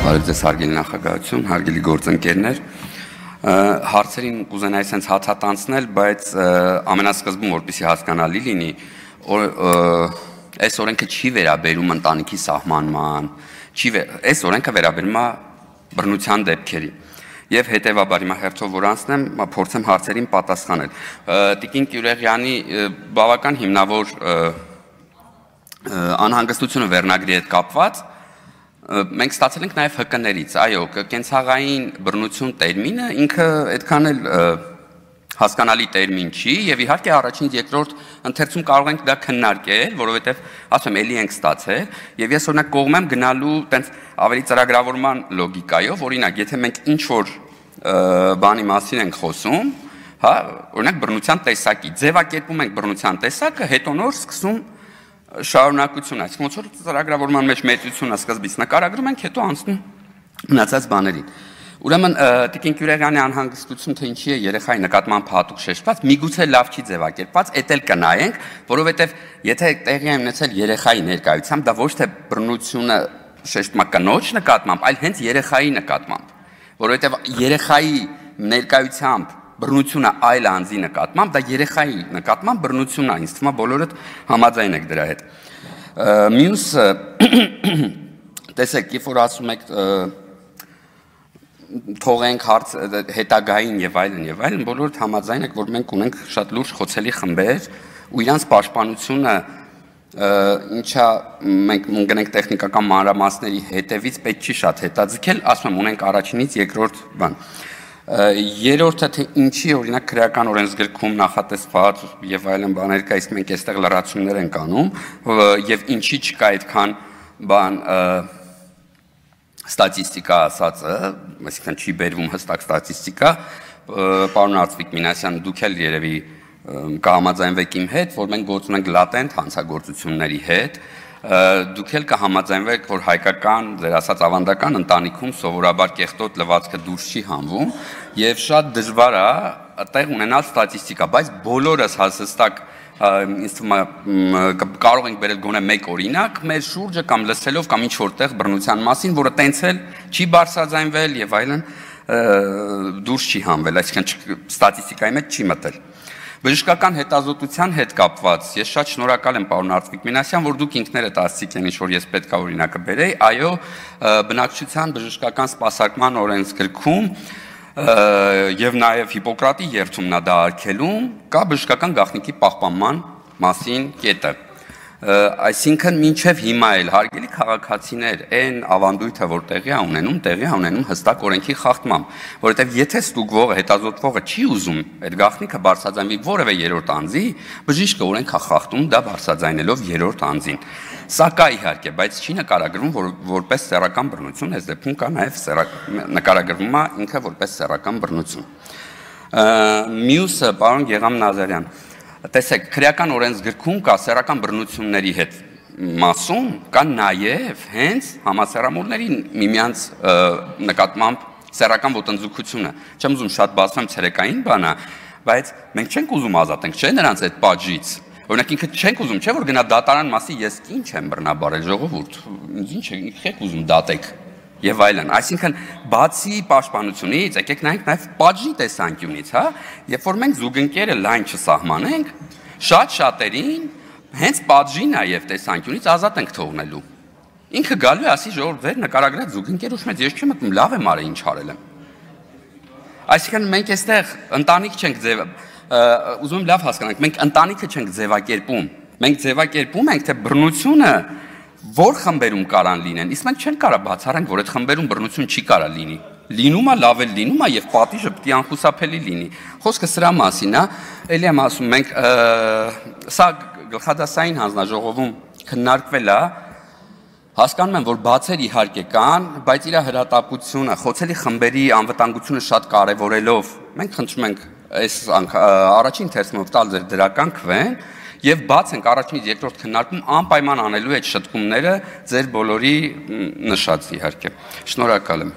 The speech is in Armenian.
Բարև ձեզ հարգելի նախագահություն, հարգելի գործընկերներ, հարցերին կուզենայի sense հացատանցնել, բայց ամենասկզբում որպեսզի հասկանալի լինի, այս օրենքը չի վերաբերում ընտանիքի սահմանման, այս օրենքը վերաբերում է բռնության դեպքերի։ Եվ հետևաբար հիմա հերթով որ անցնեմ, փորձեմ հարցերին պատասխանել։ Տիկին Կյուրեղյանի բավական հիմնավոր անհանգստությունը վերնագրի հետ կապված մենք ստացել ենք նաև ՀԿ-ներից, այո, կենցաղային բռնություն տերմինը ինքը այդքան էլ հասկանալի տերմին չի եւ իհարկե առաջին երկրորդ ընթերցում կարող ենք դա քննարկել, որովհետեւ ասում եմ, էլի ենք ստացել եւ ես օրինակ կողմ եմ գնալու տենց ավելի ծրագրավորման լոգիկայով, օրինակ, եթե մենք ինչ որ բանի մասին ենք խոսում, հա, օրինակ բռնության տեսակի, ձևակերպում ենք բռնության տեսակը, հետո նոր սկսում շարունակություն, այսինքն ոնց որ ծրագրավորման մեջ մեծությունը սկզբից նկարագրում ենք, հետո անցնում մնացած բաներին։ Ուրեմն Տիկին Կյուրեղյանի անհանգստություն թե ինչի է երեխայի նկատմամբ հատուկ շեշտված, միգուցե լավ չի ձևակերպված, էդ էլ կնայենք, որովհետև եթե տեղի է ունեցել երեխայի ներկայությամբ, դա ոչ թե բռնությունը շեշտում է կնոջ նկատմամբ, այլ հենց երեխայի նկատմամբ, որովհետև երեխայի ներկայությամբ բռնությունը այլ անձի նկատմամբ, դա երեխայի նկատմամբ բռնությունն է, ինձ թվում է բոլորդ համաձայն եք դրա հետ։ Մյուսը, տեսեք, երբ որ ասում եք թողենք հարց հետագային եւ այլն, բոլորդ համաձայն եք, որ մենք ունենք շատ լուրջ խոցելի խմբեր ու իրանց պաշտպանությունը ինչա մենք ունենք տեխնիկական մանրամասների հետևից պետք չի շատ հետաձգել, ասում եմ, ունենք առաջինից երկրորդ բան։ Երրորդը թե ինչի օրինակ քրեական օրենսգրքում նախատեսված եւ այլն բաներ կա, իսկ մենք այստեղ լրացումներ ենք անում եւ ինչի չկա այդքան բան ստատիստիկա ասածը, այսինքն չի բերվում հստակ ստատիստիկա, պարոն Արծվիկ Մինասյան, դուք էլ երևի կհամաձայնվեք իմ հետ, որ մենք գործ ունենք լատենտ հանցագործությունների հետ, դուք էլ կհամաձայնվեք, որ հայկական, ձեր ասած ավանդական ընտանիքում սովորաբար կեղտոտ լվացքը դուրս չի հանվում եւ շատ դժվար է տեղ ունենալ ստատիստիկա, բայց բոլորս հաստատ ինձ թվում է կարող ենք բերել գոնե մեկ օրինակ մեր շուրջը կամ լսելով կամ ինչ որտեղ բռնության մասին, որը տենց էլ չի բարձրաձայնվել եւ այլն դուրս չի հանվել, այսինքն ստատիստիկայի մեջ չի մտել։ Բժշկական հետազոտության հետ կապված ես շատ շնորհակալ եմ պարոն Արծվիկ Մինասյան, որ դուք ինքներդ ասացիք այն ինչ որ ես պետք է օրինակը բերեի, այո, բնակչության բժշկական սպասարկման օրենսգրքում եւ նաեւ Հիպոկրատի երթումն է դա արգելում, կա բժշկական գաղտնիքի պահպանման մասին կետը։ Այսինքն մինչև հիմա էլ հարգելի քաղաքացիներ այն ավանդույթը որ տեղի է ունենում հստակ օրենքի խախտմամբ, որովհետև եթե ստուգվողը հետազոտվողը չի ուզում այդ գաղտնիքը բարձրաձայնվի որևէ երրորդ անձի, բժիշկը օրենք է խախտում դա բարձրաձայնելով երրորդ անձին։ Սա կա իհարկե, բայց չի նկարագրվում որպես սեռական բռնություն, այս դեպքում կա նաև նկարագրվում է ինքը որպես սեռական բռնություն։ Մյուսը պարոն Գեգամ Նազարյան, տեսեք, քրեական օրենսգրքում կա սեռական բռնությունների հետ մասում, կա նաև հենց համասեռամոլների միմյանց նկատմամբ սեռական ոտնձգությունը։ Չեմ ուզում շատ բացեմ ցերեկային բանը, բայց մենք չենք ուզում ազատենք, չէ՞ նրանց այդ պատժից։ Օրինակ ինքը չենք ուզում, չէ՞ որ գնա դատարան մասի ես ինչ եմ բռնաբարել ժողովուրդ, ինչ եք ուզում դատեք եւ այլն։ Այսինքն բացի պաշտպանությունից, եկեք նայենք նաեւ պատժի տեսանկյունից, հա, երբ որ մենք զուգընկերը լայն չսահմանենք, շատ շատերին հենց պատժի նաեւ տեսանկյունից ազատ ենք թողնելու։ Ինքը գալու է ասի ժողովուրդ վեր նկարագրած զուգընկեր ուշ մեծ ես չեմ մտնում, լավ եմ արել ինչ արել եմ։ Այսինքն մենք այստեղ ընտանիք չենք ուզում լավ հասկանանք, մենք ընտանիքը չենք ձևակերպում, մենք ձևակերպում ենք թե բռնությունը որ խմբերում կարան լինեն, իսկ մենք չենք կարա բացառենք, որ այդ խմբերում բռնություն չի կարա լինի։ Լինում է, լավ էլ լինում է եւ պատիժը պետք է անխուսափելի լինի։ Խոսքը սրա մասին է, ելի եմ ասում, մենք սա գլխադասային հանձնաժողովում քննարկվել է, հասկանում եմ, որ բացեր իհարկե կան, բայց իր հրատապությունը, խոցելի խմբերի անվտանգությունը շատ կարևորելով, մենք խնդրում ենք այս առաջին թերթով տալ ձեր դրական քվեն եւ բաց ենք առաջինից երկրորդ քննարկում անպայման անելու այդ շտկումները ձեր բոլորի նշած իհարկե։ Շնորհակալ եմ։